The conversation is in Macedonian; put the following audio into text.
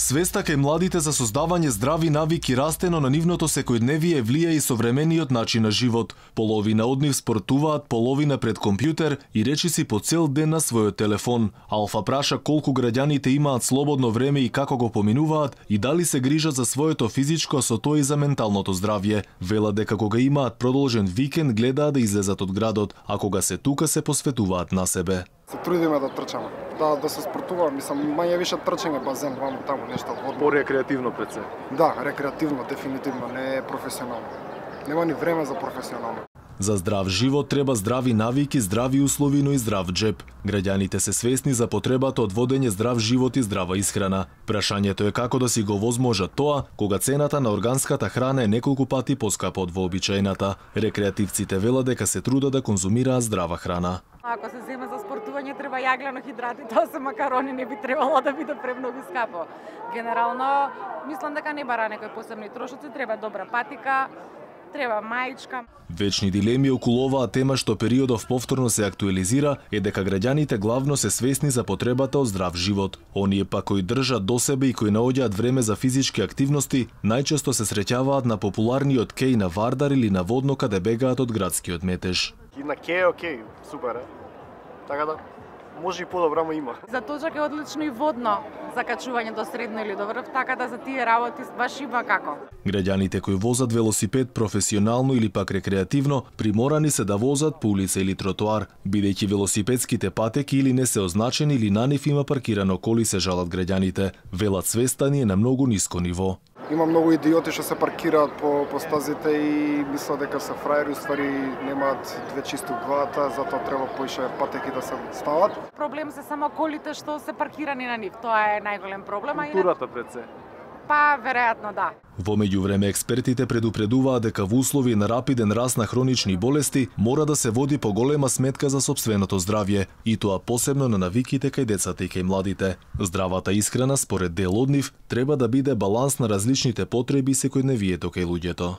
Свеста кај младите за создавање здрави навики расте, но на нивното секојдневие влија и современиот начин на живот. Половина од нив спортуваат, половина пред компјутер и речиси по цел ден на својот телефон. Алфа праша колку граѓаните имаат слободно време и како го поминуваат и дали се грижат за своето физичко, со тоа и за менталното здравје. Велат дека кога имаат продолжен викенд гледаат да излезат од градот, а кога се тука се посветуваат на себе. Се трудиме да трчаме, да се спортуваме, мање више трчање, базен, ваму таму нешто водно. По-рекреативно пред се. Да, рекреативно, дефинитивно, не професионално. Нема ни време за професионално. За здрав живот треба здрави навики, здрави услови, но и здрав джеб. Граѓаните се свесни за потребата од водење здрав живот и здрава исхрана. Прашањето е како да си го возможат тоа, кога цената на органската храна е неколку пати поскапа од вообичаената. Рекреативците велат дека се трудат да конзумираат здрава храна. Ако се земе за спортување, треба јаглено-хидрати, тоа се макарони, не би требало да биде премногу скапо. Генерално, мислам дека не бара некои посебни трошоци, треба добра патика, треба маичка. Вечни дилеми околу оваа тема што периодов повторно се актуализира е дека граѓаните главно се свесни за потребата од здрав живот. Оние пак кои држат до себе и кои наоѓаат време за физички активности, најчесто се среќаваат на популарниот кеј на Вардар или на Водно каде бегаат од градскиот метеж. И на кеј, окей, супер е. Така да, може и подобро, ама има. За точак е одлично и Водно за качување до средно или до врв, така да за тие работи баш има како. Граѓаните кои возат велосипед професионално или пак рекреативно, приморани се да возат по улица или тротоар, бидејќи велосипедските патеки или не се означени или на нив има паркирано коли, се жалат граѓаните. Велат свеста ни е на многу ниско ниво. Има многу идиоти што се паркираат по стазите и мислат дека се фраери, уствари немаат две чисти главата, затоа треба поише патеки да се стават. Проблем се само колите што се паркирани на нив, тоа е најголем проблем. Културата пред се. Па, веројатно да. Во меѓувреме експертите предупредуваат дека во услови на рапиден раст на хронични болести мора да се води поголема сметка за сопственото здравје, и тоа посебно на навиките кај децата и кај младите. Здравата исхрана, според дел од нив, треба да биде баланс на различните потреби секојдневието кај луѓето.